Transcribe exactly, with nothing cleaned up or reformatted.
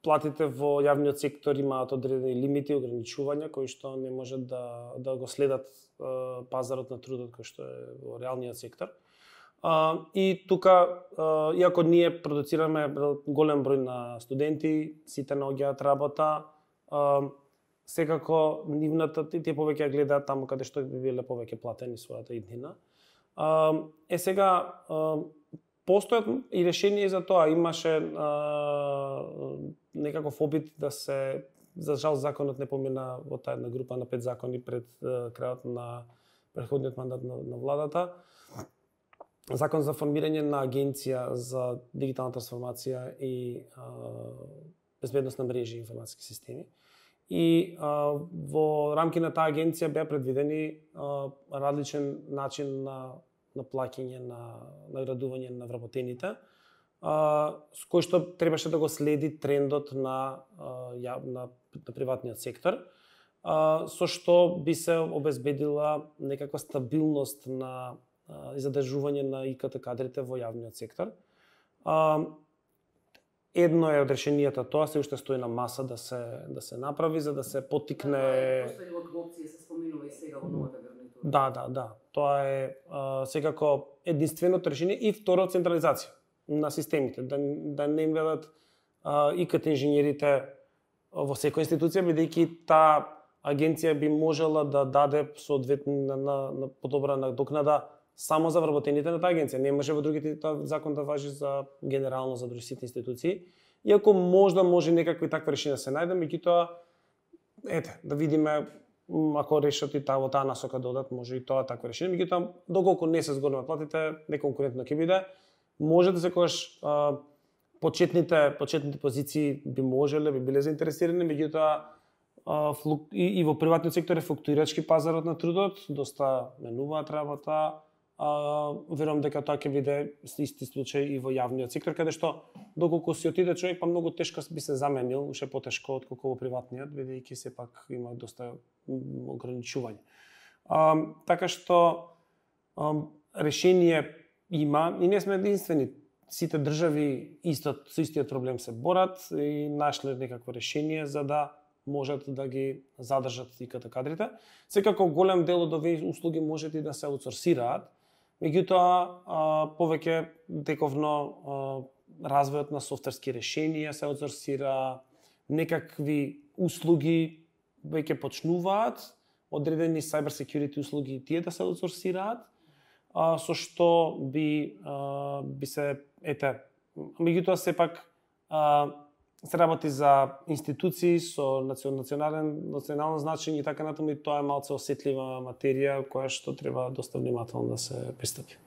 платите во јавниот сектор имаат одредени лимити, ограничувања кои што не можат да да го следат uh, пазарот на трудот кој што е во реалниот сектор. Uh, и тука, uh, иако ние продуцираме голем број на студенти, сите наоѓаат работа, uh, секако нивната тие повеќе гледаат таму каде што би биле повеќе платени својата иднина. Uh, е сега uh, постојат и решение за тоа. Имаше uh, некаков опит да се, за жал законот не помина во таа една група на пет закони пред uh, крајот на претходниот мандат на, на владата. Закон за формирање на агенција за дигитална трансформација и а, безбедност на мрежи и информатски системи. И а, во рамки на таа агенција беа предвидени а, различен начин на на плаќање, на наградување на вработените, а, с кој што требаше да го следи трендот на а, ја, на, на приватниот сектор, а, со што би се обезбедила некаква стабилност на и задржување на И К Т кадрите во јавниот сектор. Едно е од решенијата тоа, се уште стои на маса да се да се направи за да се поттикне. Постојува опција се споминува и сега во новата гарнитура. Да, да, да. Тоа е а, секако единственото решение и второ централизација на системите, да да не им велат И К Т инженерите во секоја институција, бидејќи таа агенција би можела да даде соодветна на, на, на подобра надокнада само за вработените на таа агенција. Не може во другите таа закон да важи за генерално за други сите институции. Иако можда може некакви такви решенија да се најдат, меѓутоа ете, да видиме ако решат и таа во таа насока додат, може и тоа такво решение. Меѓутоа доколку не се зголемат платите, неконкурентно ќе биде. Може да секогаш а, почетните почетните позиции би можеле, би биле заинтересирани, меѓутоа а, и, и во приватниот сектор е флуктуирачки пазарот на трудот, доста менуваат работа. А, верувам дека тоа ќе биде исти случај и во јавниот сектор, каде што доколку си отиде човек, па многу тешко би се заменил, уште потешко отколку во приватниот, бидејќи сепак има доста ограничување. А, така што а, решение има и не сме единствени. Сите држави исто со истиот проблем се борат и нашле некакво решение за да можат да ги задржат И К Т кадрите. Секако голем дел од овие услуги можат и да се аутсорсираат. Меѓутоа, повеќе дековно развојот на софтверски решенија се аутсорсира, некакви услуги веќе почнуваат, одредени cyber security услуги тие да се аутсорсираат, со што би би се ете, меѓутоа сепак се работи за институции со национален национално значење и така натаму, и тоа е малце осетлива материја која што треба доста внимателно да се пристапи.